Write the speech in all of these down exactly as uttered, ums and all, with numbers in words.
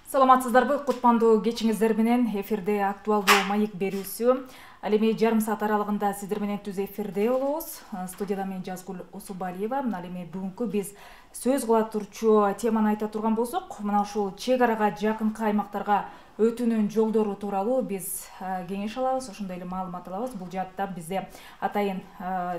Саламатсыздарбы? Кутмандуу кечиңиздер менен эфирде актуалдуу маек берүүсү. Ал эми жарым саат аралыгында сиздер менен түз эфирде болобуз. Студияда мен Жазгүл Усубалиева. Ал эми бүгүнкү биз сөз кыла турчу теманы айта турган болсок, мына ушул чек арага жакынкы аймактарга өтүүнүн жолдору тууралуу биз кеңеш алабыз, ошондой эле маалымат алабыз. Бул жаатта бизде атайын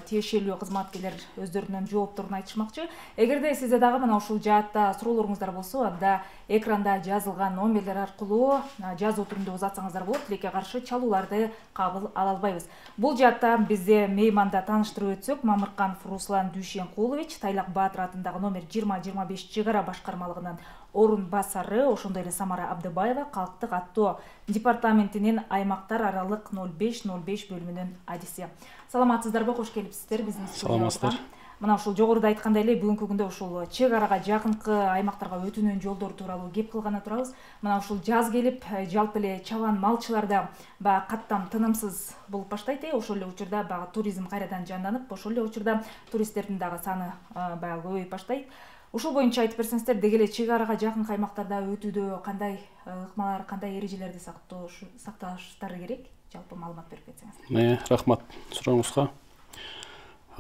тиешелүү кызматкерлер өздөрүнүн жоопторун айтышмакчы. Эгерде сизде дагы мына ушул жаатта суроолоруңуздар болсо, анда экранда жазылган номерлер аркылуу жазуу түрүндө узатсаңыздар болот. Тилекке каршы чалууларды кабыл ала албайбыз. Бул жаатта бизде мейманда тааныштырып өтсөк, Мамырканов Руслан Дүйшенкулович, Тайлак Баатыр атындагы номер жыйырма жыйырма беш чек ара башкармалыгынын орун басары, ошондой эле Самара Абдыбаева калктык аттоо департаментинин аймактар аралык ноль беш ноль беш бөлүмүнүн адиси. Саламатсыздарбы? Кош келипсиздер биздин студиябызга. Саламатсыздар. Мына ушул жогоруда айткандай эле бүгүнкү күндө ушул чек арага жакынкы аймактарга өтүүнүн жолдору тууралуу кеп кылганы турабыз. Мына ушул жаз келип, жалпы эле чабан малчыларда баягы каттам тынымсыз болуп баштайт. Ошол эле учурда баягы туризм кайрадан жанданып, ошол эле учурда туристтердин дагы саны баягы көбөйүп баштайт. Ушул боюнча айтып берсеңиздер, деги эле чек арага жакынкы аймактарда өтүүдө кандай ыкмалар, кандай эрежелерди сакташтары керек? Жалпы маалымат берип кетсеңиз. Э, рахмат сурооңузга.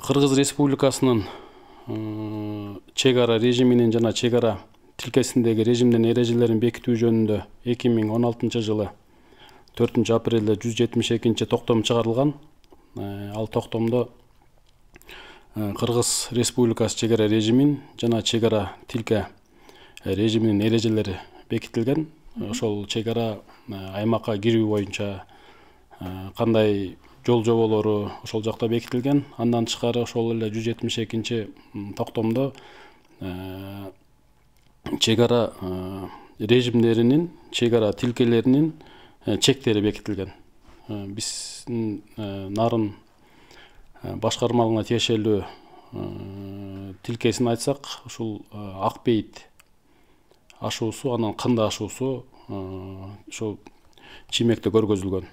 Кыргыз Республикасынын чек ара режиминин жана чек ара тилкесиндеги режимдин эрежелерин бекитүү жөнүндө эки миң он алтынчы жылы төртүнчү апрелде жүз жетимиш экинчи токтом чыгарылган. Ал токтомдо Кыргыз Республикасы чек ара режимин жана чек ара тилке режиминин эрежелери бекитилген. Ошол чек ара аймакка кирүү боюнча кандай жол жоболору ошол жакта бекитилген. Андан тышкары ошол эле жүз жетимиш экинчи токтомдо чек ара режимдеринин, чек ара тилкелеринин чектери бекитилген. Биздин нарын башкармалыгына тиешелүү тилкесин айтсак, ушул ак бейит ашуусу, анан кынды ашуусу ошол чиймекте көргөзүлгөн.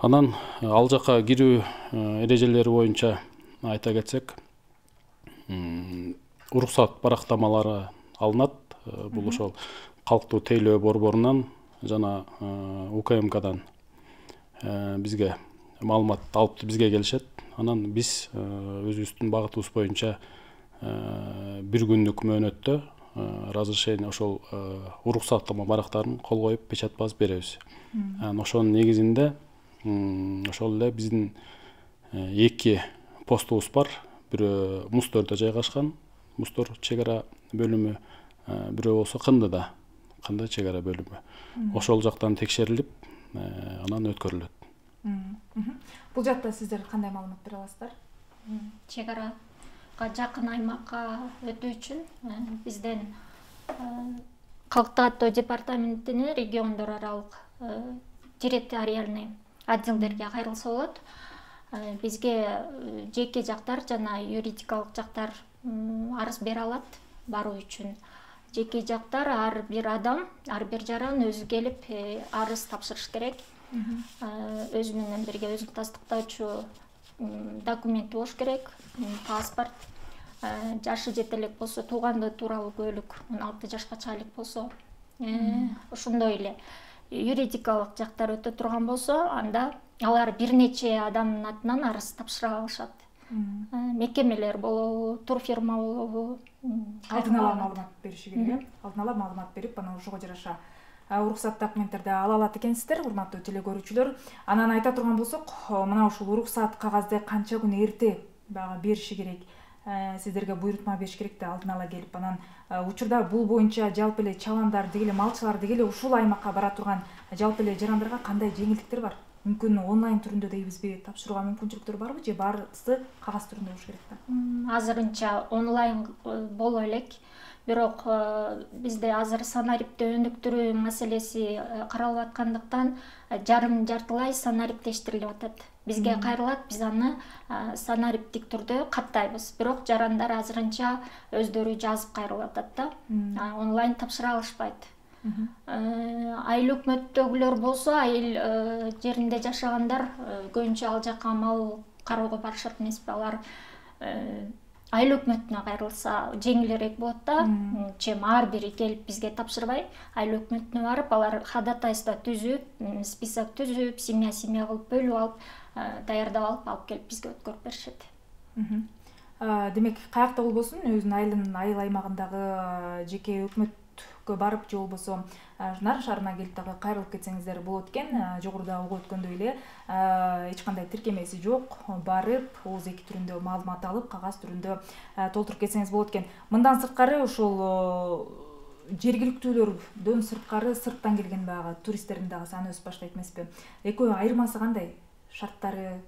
Анан ал жака кирүү эрежелери боюнча айта кетсек, уруксат барактамалары алынат. Бул ошол калктуу тейлөө борборунан жана У К М Кдан бизге маалымат алып бизге келишет. Анан биз өзүбүздүн багытыбыз боюнча бир күндүк мөөнөттө разрешение ошол уруксаттама барактарын кол коюп печать басып беребиз. Анан ошонун негизинде ошол эле биздин эки постубуз бар. Бирөө Мустөрдө жайгашкан, Мустор чек ара бөлүмү, бирөө болсо Кындыда, Кынды чек ара бөлүмү. Ошол жактан текшерилип, анан өткөрүлөт. Бул жакта сиздер кандай маалымат бере аласыздар? Чек арага жакын аймакка өтүү үчүн бизден калктык аттоо департаментинин региондор аралык территориальный отделдерге кайрылса болот. Бизге жеке жактар жана юридикалык жактар арыз бере алат баруу үчүн. Жеке жактар ар бир адам, ар бир жаран өзү келип арыз тапшырыш керек. Өзү менен бирге өзүн тастыктоочу документи болуш керек, паспорт, жашы жете элек болсо туугандыгы тууралуу куәлүк, он алты жашка чыга элек болсо, ошондой эле юридикалык жактар өтө турган болсо, анда алар бир нече адамдын атынан арыз тапшыра алышат. Мекемелер болобу, турфирма болобу, алдын ала маалымат бериши керек. Алдын ала маалымат берип, анан ошого жараша уруксат документтерди ала алат экенсиздер, урматтуу теле көрүүчүлөр. Анан айта турган болсок, мына ушул уруксат кагазды канча күн эрте баягы бериши керек, сиздерге буйрутма бериш керек да алдын ала келип. Анан учурда бул боюнча жалпы эле чабандар деги эле малчылар деги эле ушул аймакка бара турган жалпы эле жарандарга кандай жеңилдиктер бар? Мүмкүн онлайн түрүндө дейбизби, тапшырууга мүмкүнчүлүктөр барбы же баарысы кагаз түрүндө болуш керек да? Азырынча онлайн боло элек. Бирок бизде азыр санариптти өнүктүрүү маселеси каралып аткандыктан жарым жартылай санариптештирилип атат. Бизге кайрылат, биз аны санариптик түрдө каттайбыз. Бирок жарандар азырынча өздөрү жазып кайрылып атат да. Онлайн тапшыра алышпайт. Айыл өкмөттөгүлөр болсо, айыл жеринде жашагандар көбүнчө ал жака мал кароого барышат эмеспи? Алар айыл өкмөтүнө кайрылса жеңилирээк болот да. Чем ар бири келип бизге тапшырбай, айыл өкмөтүнө барып, алар ходатайство түзүп, список түзүп, семья семья кылып бөлүп алып, даярдап алып, алып келип бизге өткөрүп беришет. Демек, каякта болбосун, өзүнүн айылынын айыл аймагындагы жеке өкмөткө барып, же болбосо Нарын шаарына келип дагы кайрылып кетсеңиздер болот экен. Жогоруда угуп өткөндөй эле эч кандай тиркемеси жок, барып, ооз эки түрүндө маалымат алып, кагаз түрүндө толтуруп кетсеңиз болот экен. Мындан сырткары ошол жергиликтүүлөрдөн сырткары, сырттан келген баягы туристтердин дагы саны өсүп баштайт эмеспи? Экөө айырмасы кандай? Шарттары?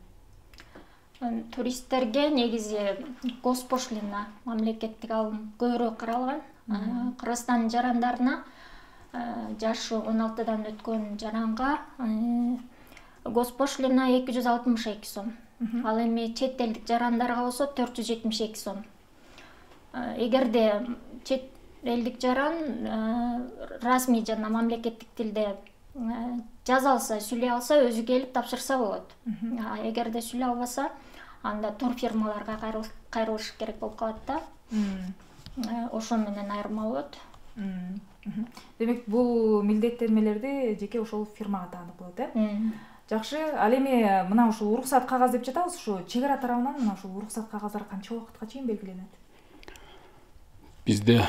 Туристтерге негизи госпошлина, мамлекеттик алым көбүрөөк каралган. Кыргызстандын жарандарына, жашы он алтыдан өткөн жаранга госпошлина эки жүз алтымыш эки сом. Ал эми чет элдик жарандарга болсо төрт жүз жетимиш эки сом. Эгерде чет элдик жаран расмий жана мамлекеттик тилде жаза алса, сүйлөй алса, өзү келип тапшырса болот. Эгерде сүйлөй албаса, анда турфирмаларга кайрылыш керек болуп калат да. Ошо менен айырма болот. Демек, бул милдеттенмелерди жеке ошол фирмага таанып болот, э? Жакшы. Ал эми мына ушул уруксат кагаз деп жатабыз, ушу чек ара тарабынан мына ушул уруксат кагаздары канча убакытка чейин белгиленет? Бизде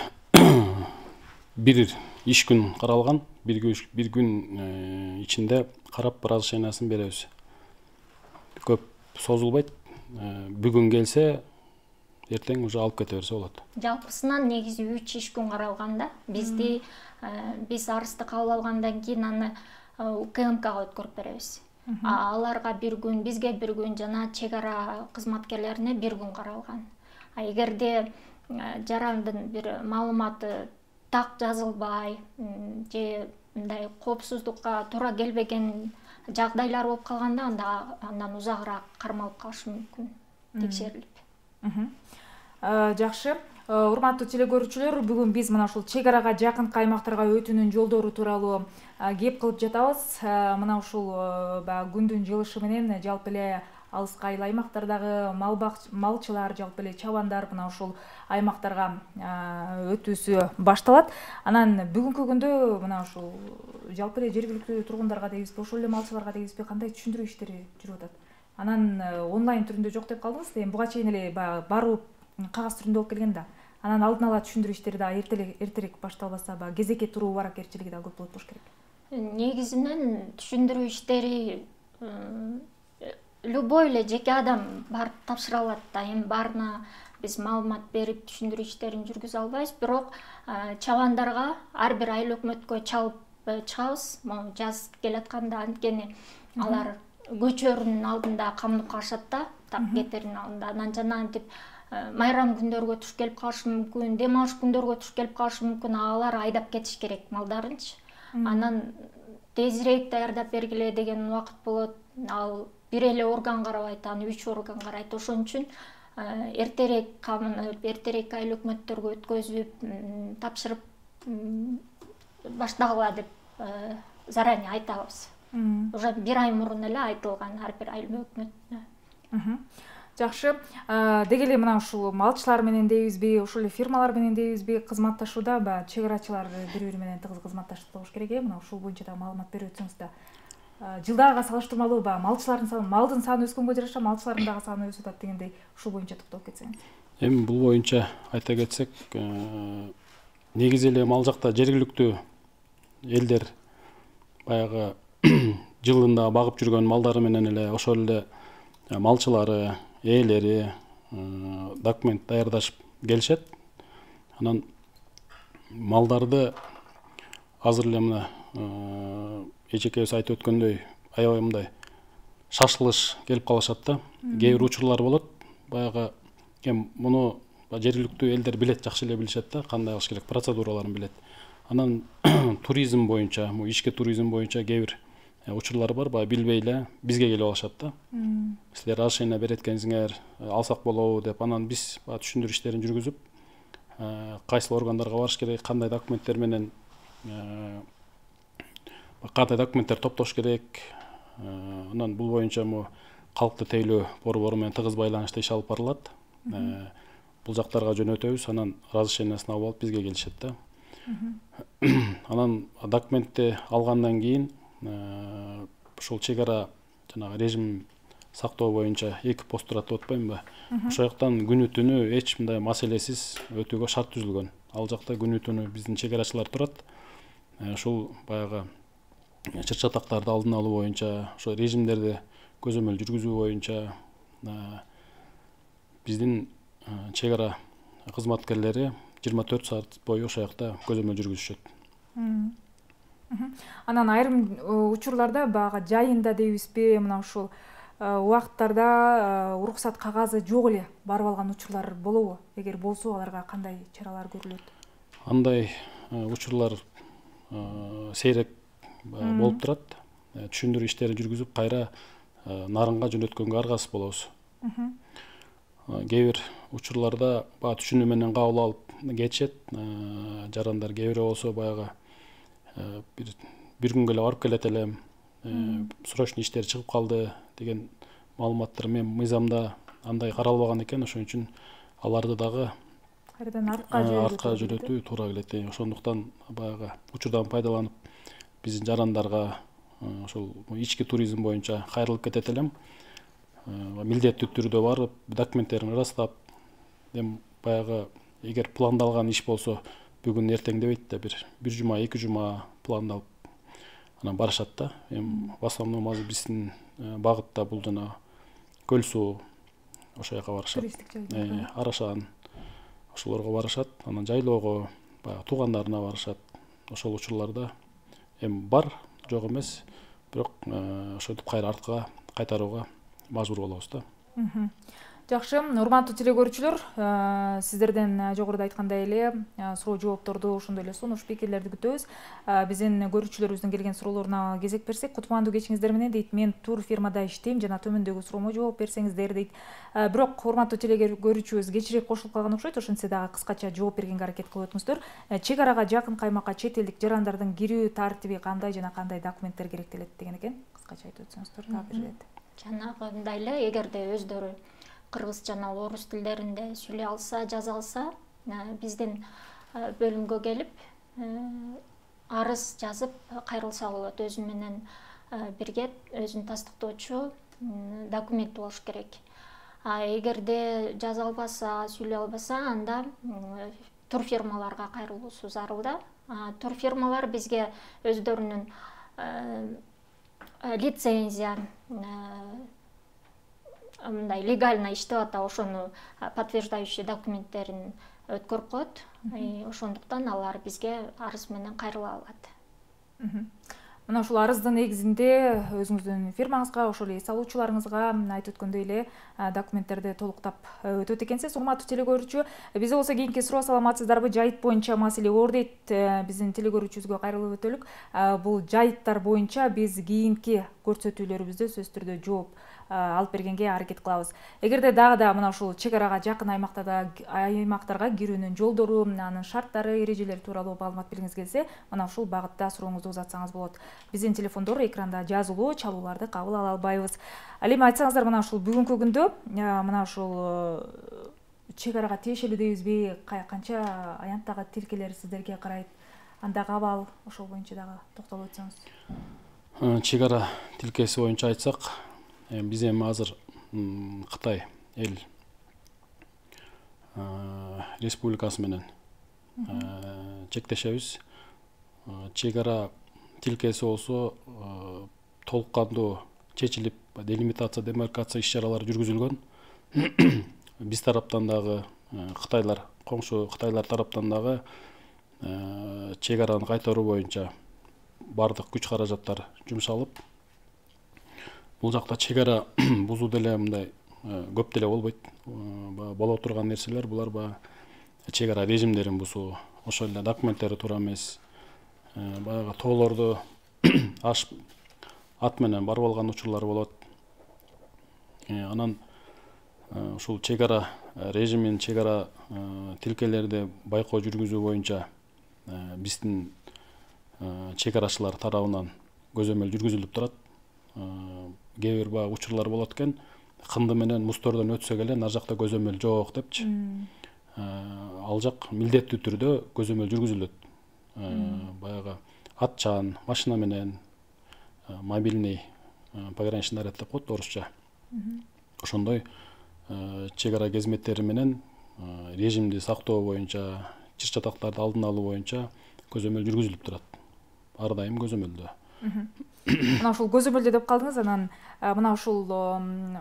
бир иш күн каралган, бир күн ичинде карап разрешениясын беребиз. Көп созулбайт. Бүгүн келсе, эртең уже алып кете берсе болот. Жалпысынан негизи үч иш күн каралган да. Бизди биз арызды кабыл алгандан кийин аны УКМКга өткөрүп беребиз. Аларга бир күн, бизге бир күн, жана чек ара кызматкерлерине бир күн каралган. Эгерде жарандын бир маалыматы так жазылбай, же мындай коопсуздукка туура келбеген жагдайлар болуп калганда, анда андан узагыраак кармалып калышы мүмкүн, текшерилип. Жакшы. Урматтуу телекөрүүчүлөр, бүгүн биз мына ушул чек арага жакынкы аймактарга өтүүнүн жолдору тууралуу кеп кылып жатабыз. Мына ушул баягы күндүн жылышы менен жалпы эле алыскы айыл аймактардагы малчылар, жалпы эле чабандар мына ушул аймактарга өтүүсү башталат. Анан бүгүнкү күндө мына ушул жалпы эле жергиликтүү тургундарга дейбизби, ошол эле малчыларга дейбизби, кандай түшүндүрүү иштери жүрүп атат? Анан онлайн түрүндө жок деп калдыңыз. Эми буга чейин эле баягы барып кагаз түрүндө болуп келген да. Анан алдын ала түшүндүрүү иштери да эртерээк башталбаса, баягы кезекке туруу баракерчилиги да көп болот болуш керек. Негизинен түшүндүрүү иштери любой эле жеке адам барып тапшыра алат да. Эми баарына биз маалымат берип түшүндүрүү иштерин жүргүзө албайбыз, бирок чабандарга ар бир айыл өкмөткө чалып чыгабыз. Могу жаз келатканда, анткени алар көчөрүнүн алдында камынып калышат да, так кетеринин алдында. Анан жана антип майрам күндөргө туш келип калышы мүмкүн, дем алыш күндөргө туш келип калышы мүмкүн, алар айдап кетиш керек малдарынчы. Анан тезирээк даярдап бергиле деген убакыт болот. Ал бир эле орган карабайт, аны үч орган карайт. Ошон үчүн эртерээк камынып, эртерээк айыл өкмөттөргө өткөзүп, тапшырып баштагыла деп заранее айтабыз. Уже бир ай мурун эле айтылган ар бир айыл өкмөтүнө. Жакшы. Деги эле мына ушул малчылар менен дейбизби, ушул эле фирмалар менен дейбизби, кызматташууда баягы чек арачылар бири-бири менен тыгыз кызматташып болуш керек э. Мына ушул боюнча да маалымат берип өтсөңүз да. Жылдарга салыштырмалуу баягы малчылардын саны, малдын саны өскөнгө жараша малчылардын дагы саны өсүп атат дегендей, ушул боюнча токтолуп кетсеңиз. Эми бул боюнча айта кетсек, негизи эле мал жакта жергиликтүү элдер баягы жылында багып жүргөн малдары менен эле ошол эле малчылары, ээлери документ даярдашып келишет. Анан малдарды азыр эле мына эжекебиз айтып өткөндөй, аябай мындай шашылыш келип калышат да. Кээ бир учурлар болот. Баягы эми муну жергиликтүү элдер билет, жакшы эле билишет да, кандай кылыш керек, процедураларын билет. Анан туризм боюнча, бул ички туризм боюнча кээ бир учурлар бар, баягы билбей эле бизге келип алышат да. Силер разрешение берет экенсиңер, алсак болобу деп. Анан биз баягы түшүндүрүү иштерин жүргүзүп, кайсыл органдарга барыш керек, кандай документтер менен, кандай документтер топтош керек. Анан бул боюнча му калкты тейлөө борбору менен тыгыз байланышта иш алып барылат. бул жактарга жөнөтөбүз, анан разрешениясын алып алып бизге келишет да. Анан документти алгандан кийин ушул чек ара жанагы режим сактоо боюнча эки пост турат деп атпаймынбы? Ошол жактан күнү түнү эч мындай маселесиз өтүүгө шарт түзүлгөн. Ал жакта күнү түнү биздин чек арачылар турат. Ушул баягы чыр чатактарды алдын алуу боюнча, ошо режимдерди көзөмөл жүргүзүү боюнча биздин чек ара кызматкерлери жыйырма төрт саат бою ошол жакта көзөмөл жүргүзүшөт. Анан айрым учурларда баягы жайында дейбизби, мына ушул убакыттарда уруксат кагазы жок эле барып алган учурлар болобу? Эгер болсо, аларга кандай чаралар көрүлөт? Андай учурлар сейрек болуп турат. Түшүндүрүү иштерин жүргүзүп, кайра нарынга жөнөткөнгө аргасыз болобуз. Кээ бир учурларда баягы түшүнүү менен кабыл алып кетишет. Жарандар кээ бири болсо баягы бир бир күнгө эле барып келет элем, срочный иштер чыгып калды деген маалыматтар мен мыйзамда андай каралбаган экен, ошон үчүн аларды дагы кайрадан артка жөнөтүү туура келет. Ошондуктан баягы учурдан пайдаланып биздин жарандарга ошол ички туризм боюнча кайрылып кетет элем. Милдеттүү түрдө барып, документтерин ырастап, эми баягы эгер пландалган иш болсо, бүгүн эртең дебейт да, бир бир жума, эки жума пландалып анан барышат да. Эми в основном азыр биздин багытта бул жана Көл суу ошол жака барышат. Арашан ошолорго барышат, анан жайлоого, баягы туугандарына барышат. Ошол учурларда эми бар, жок эмес, бирок ошентип кайра артка кайтарууга мажбур болобуз да. Жакшы, урматтуу телекөрүүчүлөр, сиздерден жогоруда айткандай эле суроо жоопторду, ошондой эле сунуш пикирлерди күтөбүз. Биздин көрүүчүлөрүбүздүн келген суроолоруна кезек берсек, кутмандуу кечиңиздер менен дейт. Мен тур фирмада иштейм, жана төмөндөгү суроомо жооп берсеңиздер дейт. Бирок урматтуу телекөрүүчүбүз кечирээк кошулуп калган окшойт, ошентсе дагы кыскача жооп бергенге аракет кылып өтүңүздөр. Чек арага жакын каймакка чет элдик жарандардын кирүү тартиби кандай жана кандай документтер керектелет деген экен. Кыскача айтып өтсөңүздөр дагы бир ирет. Жанагындай эле, эгерде өздөрү кыргыз жана орус тилдеринде сүйлөй алса, жаза алса, биздин бөлүмгө келип, арыз жазып кайрылса болот. Өзү менен бирге өзүн тастыктоочу документ болуш керек. А эгерде жаза албаса, сүйлөй албаса, анда турфирмаларга кайрылуусу зарыл да. Турфирмалар бизге өздөрүнүн лицензия, мындай легально иштеп атат, ошону подтверждающий документтерин өткөрүп коет. Ошондуктан алар бизге арыз менен кайрыла алат. Мына ушул арыздын негизинде өзүңүздүн фирмаңызга, ошол эле эс алуучуларыңызга айтып өткөндөй эле документтерди толуктап өтөт экенсиз. Урматтуу телекөрүүчү, бизде болсо кийинки суроо саламатсыздарбы? Жайыт боюнча маселе оор дейт. Биздин телекөрүүчүбүзгө кайрылып өтөлүк. Бул жайыттар боюнча биз кийинки көрсөтүүлөрүбүздө сөзсүз түрдө жооп алып бергенге аракет кылабыз. Эгерде дагы да мына ушул чек арага жакын аймактарда аймактарга кирүүнүн жолдору, анын шарттары, эрежелери тууралуу маалымат бергиңиз келсе, мына ушул багытта сурооңузду узатсаңыз болот. Биздин телефондор экранда жазылуу, чалууларды кабыл ала албайбыз. Ал эми айтсаңыздар, мына ушул бүгүнкү күндө мына ушул чек арага тиешелүү дейбизби, канча аянттагы тилкелер сиздерге карайт, андагы абал, ошол боюнча дагы токтолуп өтсөңүз. Чек ара тилкеси боюнча айтсак, биз эми азыр Кытай эл республикасы менен чектешебиз. Чек ара тилкеси болсо толук кандуу чечилип, делимитация, демаркация иш-чаралары жүргүзүлгөн. Биз тараптан дагы Кытайлар, коңшу Кытайлар тараптан дагы чек араны кайтаруу боюнча бардык күч каражаттар жумшалып, бул жакта чек ара бузуу деле мындай көп деле болбойт. Боло турган нерселер булар баягы чек ара режимдерин бузуу, ошол эле документтери туура эмес, баягы тоолорду ашып ат менен барып алган учурлар болот. Анан ушул чек ара режимин, чек ара тилкелерди байкоо жүргүзүү боюнча биздин чек арачылар тарабынан көзөмөл жүргүзүлүп турат. Кээ бир баягы учурлар болот экен, кынды менен муздордон өтсөк эле нар жакта көзөмөл жок депчи. ал жак милдеттүү түрдө көзөмөл жүргүзүлөт. Баягы атчан машина менен мобильный пограничный наряд деп коет орусча. Ошондой чек ара кызметтери менен режимди сактоо боюнча, чыр чатактарды алдын алуу боюнча көзөмөл жүргүзүлүп турат. Ар дайым көзөмөлдө. Мына ушул көзөмөлдө деп калдыңыз, анан мына ушул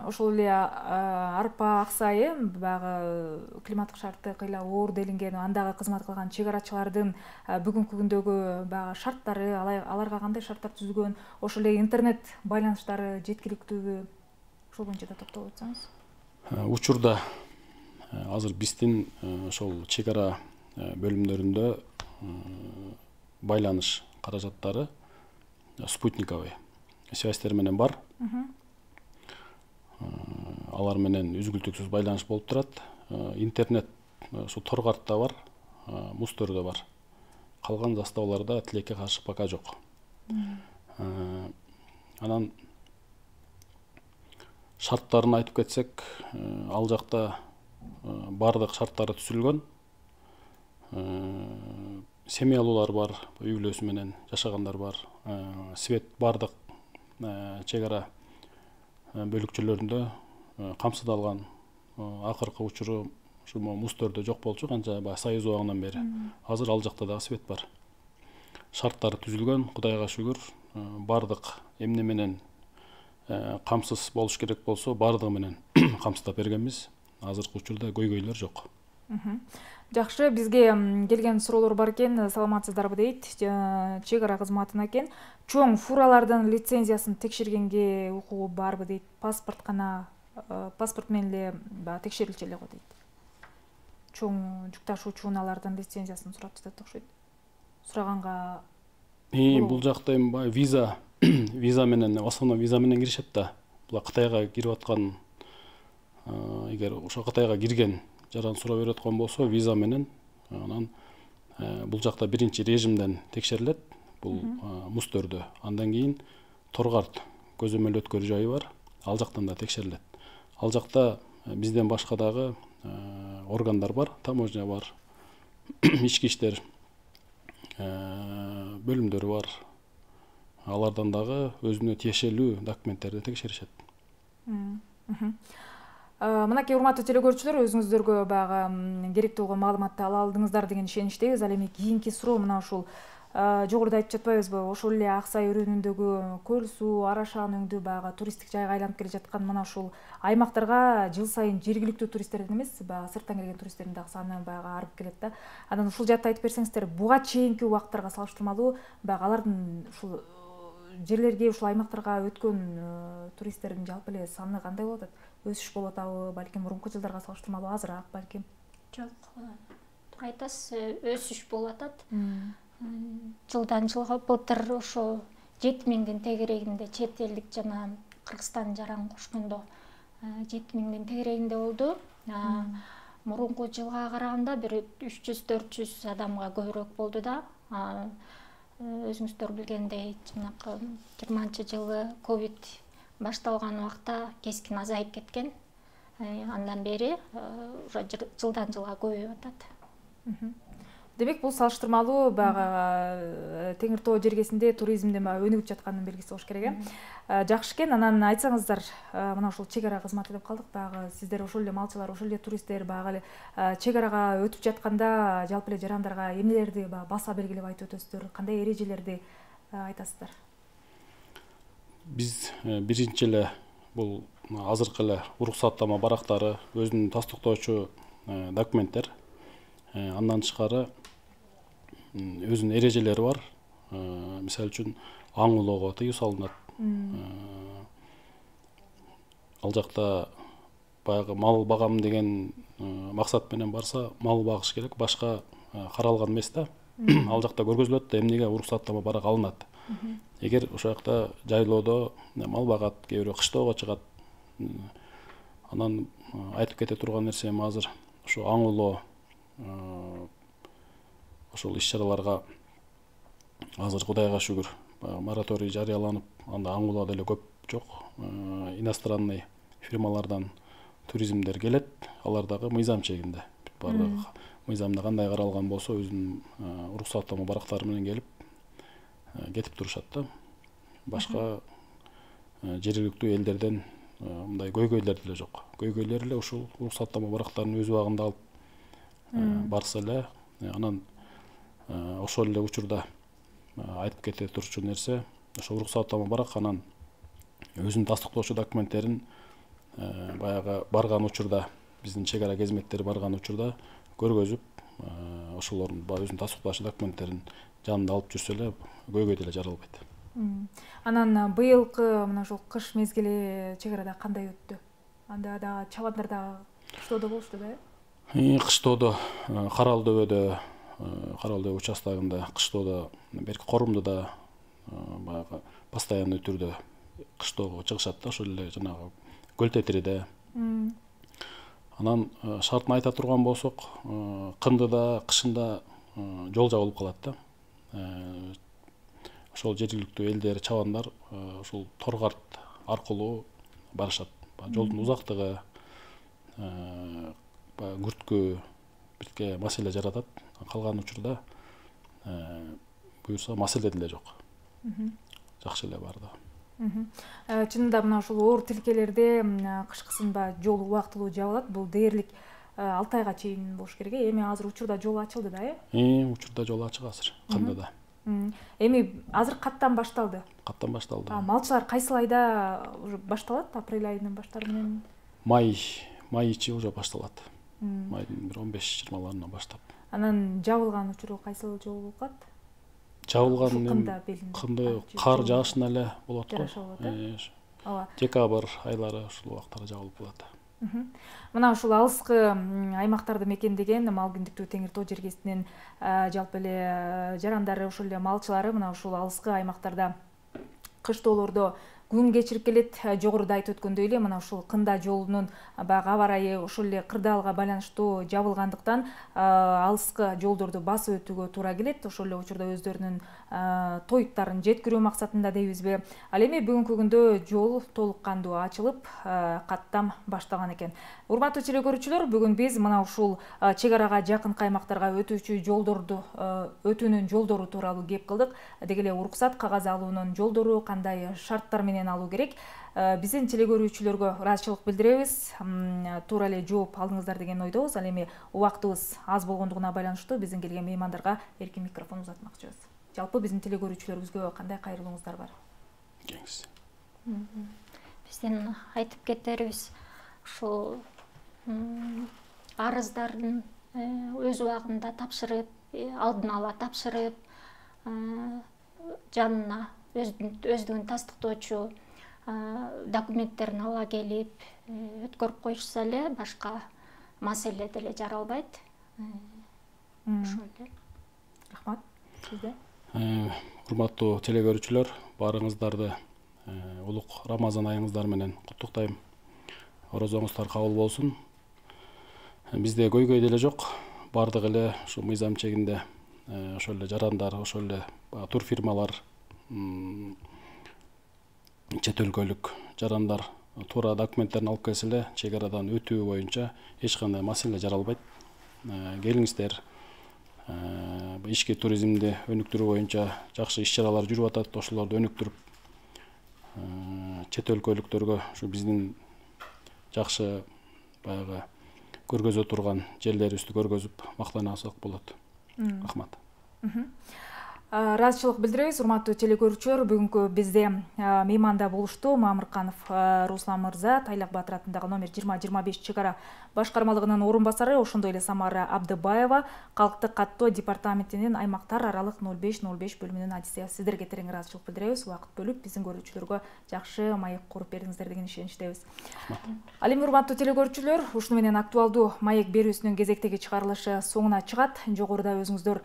ошол эле арпа аксайы баягы климаттык шарты кыйла оор делинген андагы кызмат кылган чек арачылардын бүгүнкү күндөгү баягы шарттары, аларга кандай шарттар түзүлгөн, ошол эле интернет байланыштары жеткиликтүүбү, ошол боюнча да токтолуп өтсөңүз. Учурда азыр биздин ошол чек ара бөлүмдөрүндө байланыш каражаттары спутниковый связьтер менен бар. Алар менен үзгүлтүксүз байланыш болуп турат. Интернет ушу торгартта бар, мустөрдө бар. Калган заставаларда тилекке каршы пока жок. Анан шарттарын айтып кетсек, ал жакта бардык шарттары түзүлгөн. Семьялуулар бар, үй бүлөсү менен жашагандар бар. Свет бардык чек ара бөлүкчөлөрүндө камсыздалган. Акыркы учуру ушу мустөрдө жок болчу, канча баягы союз убагынан бери. Азыр ал жакта дагы свет бар. Шарттары түзүлгөн, Кудайга шүгүр. Бардык эмне менен камсыз болуш керек болсо, бардыгы менен камсыздап бергенбиз. Азыркы учурда көйгөйлөр жок. Жакшы, бизге келген суроолор бар экен, саламатсыздарбы дейт. Чек ара кызматына экен. Чоң фуралардын лицензиясын текшергенге укугу барбы дейт. Паспорт гана, паспорт менен эле баягы текшерилчү эле го дейт. Чоң жүк ташуучу унаалардын лицензиясын сурап жатат окшойт. Сураганга бул жакта эми баягы виза, виза менен, основной виза менен киришет да. Бул Кытайга кирип аткан, эгер ошо Кытайга кирген жаран сурап берип аткан болсо, виза менен анан бул жакта биринчи режимден текшерилет. Бул мустөрдө. Андан кийин торгарт көзөмөл өткөрүү жайы бар. Ал жактан да текшерилет. Ал жакта бизден башка дагы органдар бар, таможня бар, ички иштер бөлүмдөрү бар. Алардан дагы өзүнө тиешелүү документтерди текшеришет. Мынакей урматтуу телекөрүүчүлөр, өзүңүздөргө баягы керектүү болгон маалыматты ала алдыңыздар деген ишеничтебиз. Ал эми кийинки суроо мына ушул жогоруда айтып жатпайбызбы? Ошол эле Аксай өрөөнүндөгү көл суу, арашаан өңдүү баягы туристтик жайга айланып келе жаткан мына ушул аймактарга жыл сайын жергиликтүү туристтердин эмес, баягы сырттан келген туристтердин дагы саны баягы арып келет да. Анан ушул жаатта айтып берсеңиздер, буга чейинки убакыттарга салыштырмалуу баягы алардын ушул жерлерге, ушул аймактарга өткөн туристтердин жалпы эле саны кандай болуп атат? Өсүш болуп атабы, балким мурунку жылдарга салыштырмалуу азыраак, балким? Жок, туура айтасыз, өсүш болуп атат. Жылдан жылга былтыр ошо жети миңдин тегерегинде чет элдик жана Кыргызстан жаран кошкондо жети миңдин тегерегинде болду. Мурунку жылга караганда бир үч жүз төрт жүз адамга көбүрөөк болду да. Өзүңүздөр билгендей, жанакы жыйырманчы жылы ковид башталган убакта кескин азайып кеткен. Андан бери жылдан жылга көбөйүп атат. Демек, бул салыштырмалуу баягы Теңир Тоо жергесинде туризмдин баягы өнүгүп жатканын белгиси болуш керек э. Жакшы экен. Анан айтсаңыздар, мына ушул чек ара кызматы деп калдык, баягы сиздер ошол эле малчылар, ошол эле туристтер баягы чек арага өтүп жатканда жалпы эле жарандарга эмнелерди баса белгилеп айтып өтөсүздөр, кандай эрежелерди айтасыздар? Биз биринчи эле бул азыркы эле уруксаттама барактары, өзүнүн тастыктоочу документтер. Андан тышкары өзүнүн эрежелери бар. Мисалы үчүн аң улоого тыюу салынат. Ал жакта баягы мал багам деген максат менен барса, мал багыш керек, башка каралган эмес да. Ал жакта көргөзүлөт да, эмнеге уруксаттама барак алынат. Эгер ошол жакта жайлоодо мал багат, кээ бирөө кыштоого чыгат. Анан айтып кете турган нерсем азыр ошо аң улоо ошол иш-чараларга азыр Кудайга шүгүр мораторий жарыяланып, анда аң улоо деле көп жок. Иностранный фирмалардан туризмдер келет, алар дагы мыйзам чегинде. баардык мыйзамда кандай каралган болсо өзүнүн уруксаттама барактары менен келип кетип турушат да. Башка жергиликтүү элдерден мындай көйгөйлөр деле жок. Көйгөйлөр эле ушул уруксаттама барактарын өз убагында алып барса эле, анан ошол эле учурда айтып кете турчу нерсе, ошол уруксаттама барак анан өзүнүн тастыктоочу документтерин баягы барган учурда, биздин чек ара кызметтери барган учурда көргөзүп, ошолордун өзүнүн тастыктоочу документтерин жанында алып жүрсө эле көйгөй деле жаралбайт. Анан быйылкы мына ушул кыш мезгили чек арада кандай өттү? Анда да чабандар да кыштоодо болушту да? Кыштоодо Карал дөбөдө, Карал дөбө участогунда, кыштоодо берки Корумдуда баягы постоянный түрдө кыштоого чыгышат да, ошол эле жанагы Көл Тетириде. Анан шартын айта турган болсок, Кындыда, кышында жол жабылып калат да. Ошол жергиликтүү элдер, чабандар ушул Торгарт аркылуу барышат. Жолдун узактыгы, күрткү бирке маселе жаратат. Калган учурда буюрса маселе деле жок. Жакшы эле бардыгы. Чынында мына ушул оор тилкелерде кышкысында жол убактылуу жабылат. Бул дээрлик алты айга чейин болуш керек. Эми азыр учурда жол ачылды да, э? Э, учурда жол ачык азыр, Кындыда. Эми азыр каттан башталды. Каттан башталды. Малчылар кайсыл айда уже башталат? Апрель айынын баштары менен? Май, май ичи уже башталат. Майдын бир он беш жыйырмаларынан баштап. Анан жабылган учуру кайсыл жол болуп калат? Жабылган Кынды кар жаашында эле болот го. Ооба. Декабрь айлары ушул убактарда жабылып калат. Мына ушул алыскы аймактарды мекендеген мал күндүктүү Теңир Тоо жергесинин жалпы эле жарандары, ошол эле малчылары мына ушул алыскы аймактарда кыштоолордо күн кечирип келет. Жогоруда айтып өткөндөй эле мына ушул Кында жолунун баягы аба ырайы ошол эле кырдаалга байланыштуу жабылгандыктан алыскы жолдорду басып өтүүгө туура келет. Ошол эле учурда өздөрүнүн тоюттарын жеткирүү максатында дейбизби. Ал эми бүгүнкү күндө жол толук кандуу ачылып, каттам башталган экен. Урматтуу телекөрүүчүлөр, бүгүн биз мына ушул чек арага жакын каймактарга өтүүчү жолдорду өтүүнүн жолдору тууралуу кеп кылдык. Деги эле уруксат кагаз алуунун жолдору кандай шарттар менен алуу керек? Биздин телекөрүүчүлөргө ыраазычылык билдиребиз. Туура эле жооп алдыңыздар деген ойдобуз. Ал эми убактыбыз аз болгондугуна байланыштуу биздин келген меймандарга эркин микрофон узатмакчыбыз. Жалпы биздин телекөрүүчүлөрүбүзгө кандай кайрылууңуздар бар? Кеңиз. Биздин айтып кетерибиз ушул арыздарын өз убагында тапшырып, алдын ала тапшырып, жанына өздүгүн тастыктоочу документтерин ала келип өткөрүп коюшса эле башка маселе деле жаралбайт. Ошол эле. Рахмат. Сизде? Урматтуу телекөрүүчүлөр, баарыңыздарды улук Рамазан айыңыздар менен куттуктайм. Орозоңуздар кабыл болсун. Бизде көйгөй деле жок. Бардык эле ушу мыйзам чегинде ошол эле жарандар, ошол эле турфирмалар, чет өлкөлүк жарандар туура документтерин алып келсе эле чек арадан өтүү боюнча эч кандай маселе жаралбайт. Келиңиздер, ички туризмди өнүктүрүү боюнча жакшы иш-чаралар жүрүп атат. Ошолорду өнүктүрүп, чет өлкөлүктөргө ушу биздин жакшы баягы көргөзө турган жерлерибизди көргөзүп мактана алсак болот. Рахмат. Ыраазычылык билдиребиз, урматтуу телекөрүүчүлөр. Бүгүнкү бизде мейманда болушту Мамырканов Руслан мырза, Тайлак Батыр атындагы номер жыйырма жыйырма беш чек ара башкармалыгынын орун басары, ошондой эле Самара Абдыбаева, Калктык каттоо департаментинин аймактар аралык ноль беш ноль беш бөлүмүнүн адиси. Сиздерге терең ыраазычылык билдиребиз. Убакыт бөлүп биздин көрүүчүлөргө жакшы маек куруп бердиңиздер деген ишеничтебиз. Ал эми урматтуу телекөрүүчүлөр, ушуну менен актуалдуу маек берүүсүнүн кезектеги чыгарылышы соңуна чыгат. Жогоруда өзүңүздөр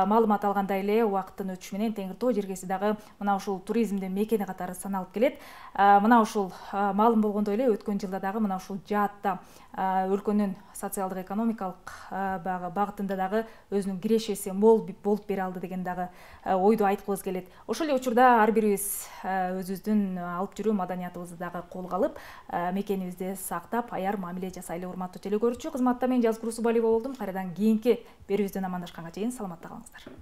маалымат алгандай эле убакыт убакыттын өтүшү менен Теңир Тоо жергеси дагы мына ушул туризмдин мекени катары саналып келет. Мына ушул маалым болгондой эле өткөн жылда дагы мына ушул жаатта өлкөнүн социалдык экономикалык багытында дагы өзүнүн кирешеси мол болуп бере алды деген дагы ойду айткыбыз келет. Ошол эле учурда ар бирибиз өзүбүздүн алып жүрүү маданиятыбызды дагы колго алып, мекенибизди сактап, аяр мамиле жасайлы. Урматтуу теле көрүүчү, кызматта мен Жазгул Усубалиева болдум. Кайрадан кийинки берүүбүздөн амандашканга чейин саламатта калыңыздар.